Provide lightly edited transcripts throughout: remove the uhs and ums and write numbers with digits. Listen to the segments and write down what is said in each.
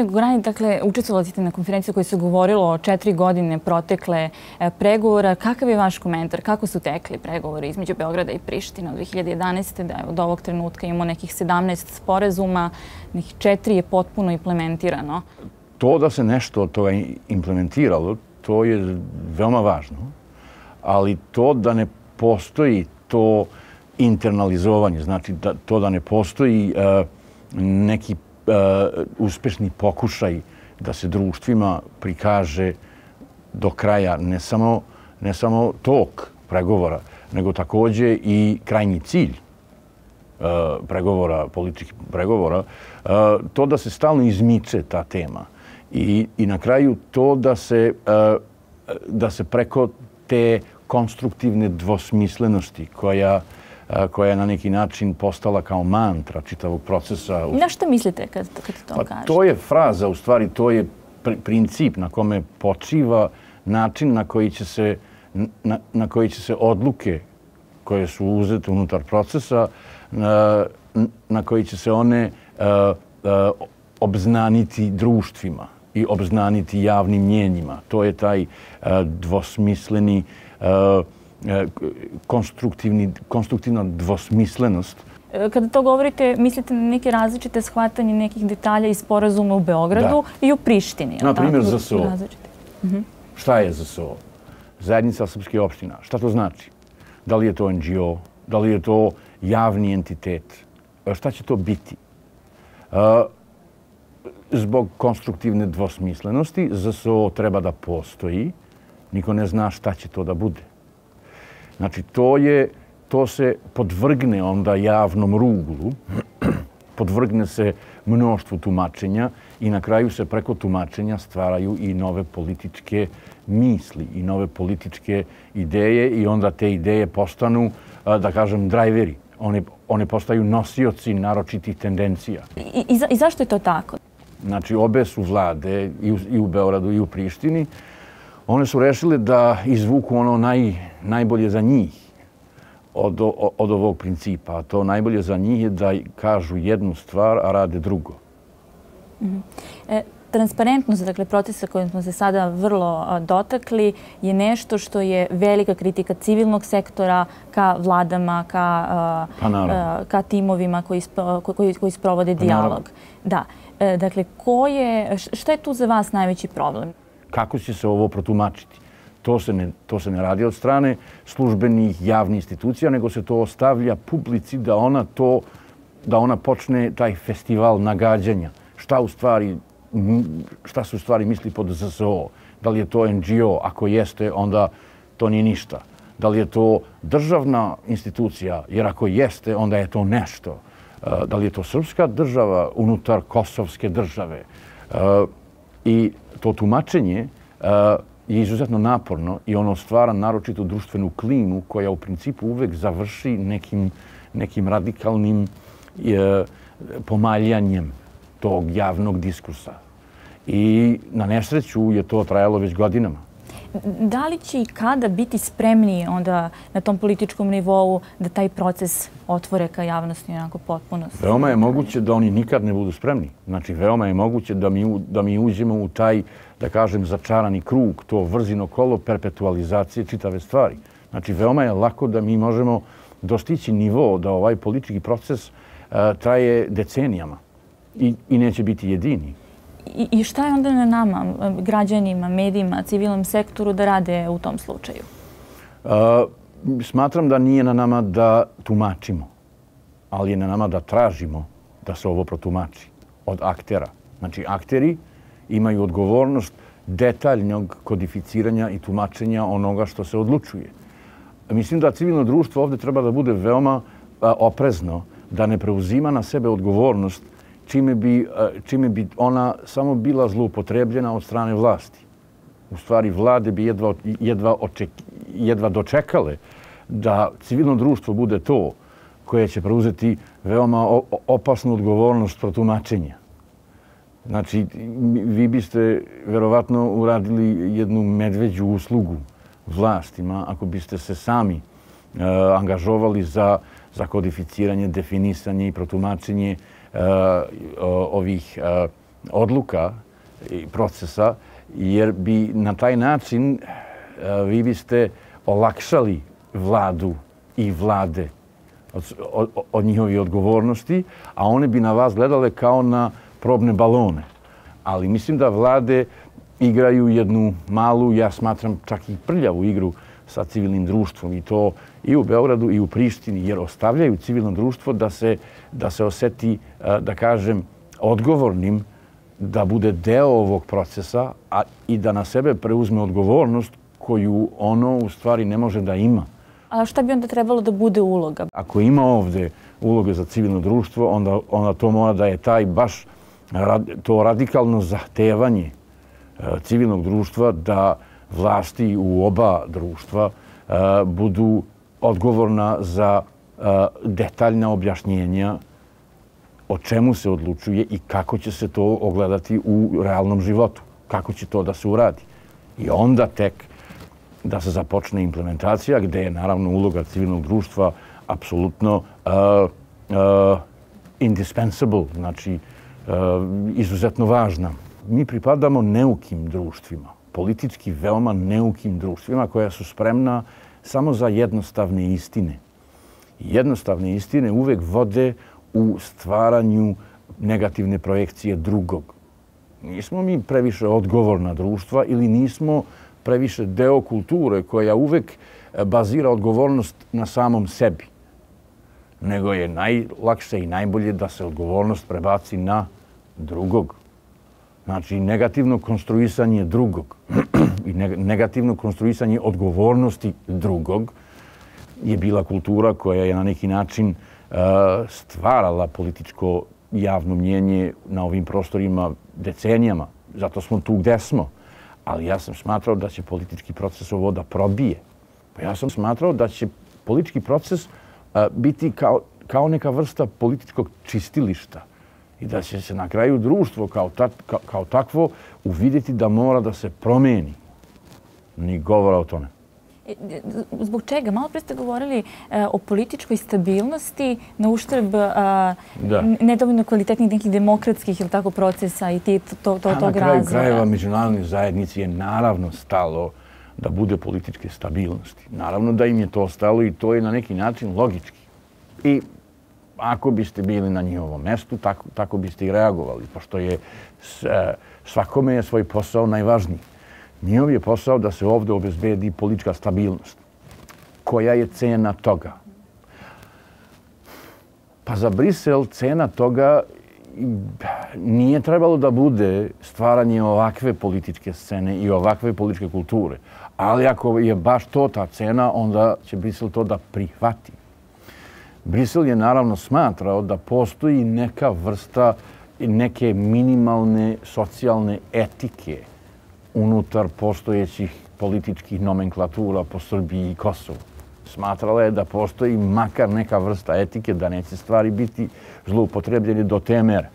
Gospodine Gogorani, dakle, učestvovali ste na konferenciji koja se govorilo o 4 godine protekle pregovora. Kakav je vaš komentar? Kako su tekli pregovori između Beograda i Prištine od 2011. da od ovog trenutka imamo nekih 17 sporazuma, nekih 4 je potpuno implementirano? To da se nešto od toga implementiralo, to je veoma važno, ali to da ne postoji to internalizovanje, znači to da ne postoji neki uspešni pokušaj da se društvima prikaže do kraja ne samo tok pregovora, nego takođe i krajnji cilj pregovora, političkih pregovora, to da se stalno izmiče ta tema i na kraju to da se preko te konstruktivne dvosmislenosti koja je na neki način postala kao mantra čitavog procesa. Na što mislite kad to kažete? To je fraza, u stvari, to je princip na kome počiva način na koji će se odluke koje su uzete unutar procesa, na koji će se one obznaniti društvima i obznaniti javnim mnjenjima. To je taj dvosmisleni konstruktivna dvosmislenost. Kada to govorite, mislite na neke različite shvatanje nekih detalja iz sporazuma u Beogradu i u Prištini? Na primjer, ZSO. Šta je ZSO? Zajednica srpskih opština. Šta to znači? Da li je to NGO? Da li je to javni entitet? Šta će to biti? Zbog konstruktivne dvosmislenosti ZSO treba da postoji. Niko ne zna šta će to da bude. Znači, to se podvrgne onda javnom ruglu, podvrgne se mnoštvu tumačenja i na kraju se preko tumačenja stvaraju i nove političke misli i nove političke ideje i onda te ideje postanu, da kažem, drajveri. One postaju nosioci naročitih tendencija. I zašto je to tako? Znači, obe su vlade i u Beogradu i u Prištini. One su rešile da izvuku ono najbolje za njih od ovog principa. A to najbolje za njih je da kažu jednu stvar, a rade drugo. Transparentnost, dakle, procesa kojim smo se sada vrlo dotakli, je nešto što je velika kritika civilnog sektora ka vladama, ka timovima koji sprovode dijalog. Da. Dakle, šta je tu za vas najveći problem? Kako će se ovo protumačiti? To se ne radi od strane službenih javnih institucija, nego se to ostavlja publici da ona počne taj festival nagađanja. Šta se u stvari misli pod ZSO? Da li je to NGO? Ako jeste, onda to nije ništa. Da li je to državna institucija? Jer ako jeste, onda je to nešto. Da li je to srpska država unutar kosovske države? I to tumačenje je izuzetno naporno i ono stvara naročitu društvenu klimu koja u principu uvek završi nekim radikalnim pomaljanjem tog javnog diskursa. I na nesreću je to trajalo već godinama. Da li će i kada biti spremniji onda na tom političkom nivou da taj proces otvore ka javnosti onako potpuno? Veoma je moguće da oni nikad ne budu spremni. Znači, veoma je moguće da mi uđemo u taj, da kažem, začarani krug, to vrzino kolo perpetualizacije čitave stvari. Znači, veoma je lako da mi možemo dostići nivo da ovaj politički proces traje decenijama i neće biti jedini. I šta je onda na nama, građanima, medijima, civilnom sektoru da rade u tom slučaju? Smatram da nije na nama da tumačimo, ali je na nama da tražimo da se ovo protumači od aktera. Znači, akteri imaju odgovornost detaljnog kodificiranja i tumačenja onoga što se odlučuje. Mislim da civilno društvo ovdje treba da bude veoma oprezno, da ne preuzima na sebe odgovornost čime bi ona samo bila zloupotrebljena od strane vlasti. U stvari, vlade bi jedva dočekale da civilno društvo bude to koje će preuzeti veoma opasnu odgovornost protumačenja. Znači, vi biste verovatno uradili jednu medveđu uslugu vlastima ako biste se sami angažovali za kodificiranje, definisanje i protumačenje ovih odluka i procesa, jer bi na taj način vi biste olakšali vladu i vlade od njihovi odgovornosti, a one bi na vas gledale kao na probne balone. Ali mislim da vlade igraju jednu malu, ja smatram čak i prljavu igru sa civilnim društvom, i to i u Beogradu i u Prištini, jer ostavljaju civilno društvo da se oseti, da kažem, odgovornim, da bude deo ovog procesa i da na sebe preuzme odgovornost koju ono u stvari ne može da ima. A šta bi onda trebalo da bude uloga? Ako ima ovde uloga za civilno društvo, onda to mora da je taj baš to radikalno zahtevanje civilnog društva da vlasti u oba društva budu odgovorna za detaljna objašnjenja o čemu se odlučuje i kako će se to ogledati u realnom životu, kako će to da se uradi. I onda tek da se započne implementacija, gde je naravno uloga civilnog društva apsolutno indispensable, znači izuzetno važna. Mi pripadamo neukim društvima, politički veoma neukim društvima koja su spremna samo za jednostavne istine. Jednostavne istine uvek vode u stvaranju negativne projekcije drugog. Nismo mi previše odgovorna društva ili nismo previše deo kulture koja uvek bazira odgovornost na samom sebi. Nego je najlakše i najbolje da se odgovornost prebaci na drugog. Znači, negativno konstruisanje drugog i negativno konstruisanje odgovornosti drugog je bila kultura koja je na neki način stvarala političko javno mnjenje na ovim prostorima decenijama. Zato smo tu gde smo. Ali ja sam smatrao da će politički proces ovo da probije. Ja sam smatrao da će politički proces biti kao neka vrsta političkog čistilišta i da će se na kraju društvo kao takvo uvidjeti da mora da se promeni. Ni govora o tome. Zbog čega? Malo pre ste govorili o političkoj stabilnosti na uštrb nedovoljno kvalitetnih nekih demokratskih ili tako procesa i tog razvoja. Na kraju krajeva međunarodnoj zajednici je naravno stalo da bude političke stabilnosti. Naravno da im je to stalo i to je na neki način logički. I ako biste bili na njihovom mestu, tako biste i reagovali, pošto je svakome je svoj posao najvažniji. Njihov je posao da se ovdje obezbedi politička stabilnost. Koja je cena toga? Pa za Brisel cena toga nije trebalo da bude stvaranje ovakve političke scene i ovakve političke kulture. Ali ako je baš to ta cena, onda će Brisel to da prihvati. Brisel je naravno smatrao da postoji neka vrsta, neke minimalne socijalne etike unutar postojećih političkih nomenklatura po Srbiji i Kosovu. Smatrala je da postoji makar neka vrsta etike, da neće stvari biti zloupotrebljene do te mere.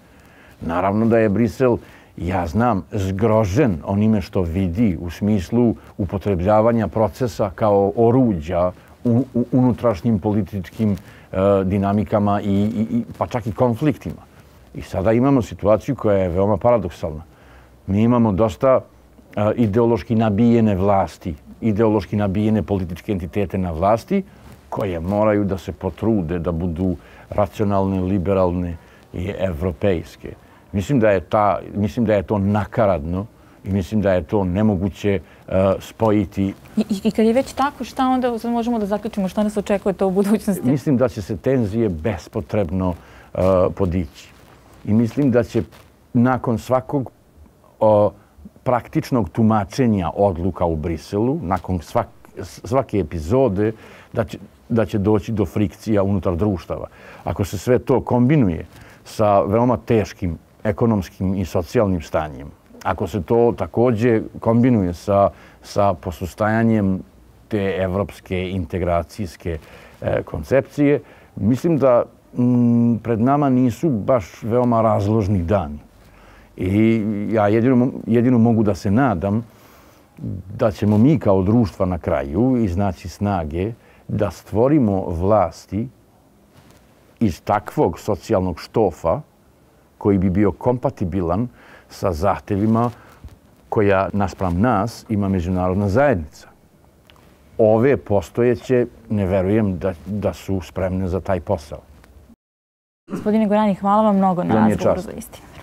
Naravno da je Brisel, ja znam, zgrožen onime što vidi u smislu upotrebljavanja procesa kao oruđa u unutrašnjim političkim dinamikama pa čak i konfliktima. I sada imamo situaciju koja je veoma paradoksalna. Mi imamo dosta ideološki nabijene vlasti, ideološki nabijene političke entitete na vlasti koje moraju da se potrude da budu racionalne, liberalne i evropejske. Mislim da je to nakaradno i mislim da je to nemoguće spojiti. I kad je već tako, šta onda možemo da zaključimo? Šta nas očekuje to u budućnosti? Mislim da će se tenzije bespotrebno podići. I mislim da će nakon svakog praktičnog tumačenja odluka u Briselu, nakon svake epizode, da će doći do frikcija unutar društava. Ako se sve to kombinuje sa veoma teškim ekonomskim i socijalnim stanjem, ako se to također kombinuje sa posustajanjem te evropske integracijske koncepcije, mislim da pred nama nisu baš veoma razložni dani. I ja jedino mogu da se nadam da ćemo mi kao društva na kraju iznaći snage da stvorimo vlasti iz takvog socijalnog štofa koji bi bio kompatibilan sa zahtevima koja naspram nas ima međunarodna zajednica. Ove postojeće, ne verujem da su spremne za taj posao. Gospodine Gorani, hvala vam mnogo na razgovoru za Istinu.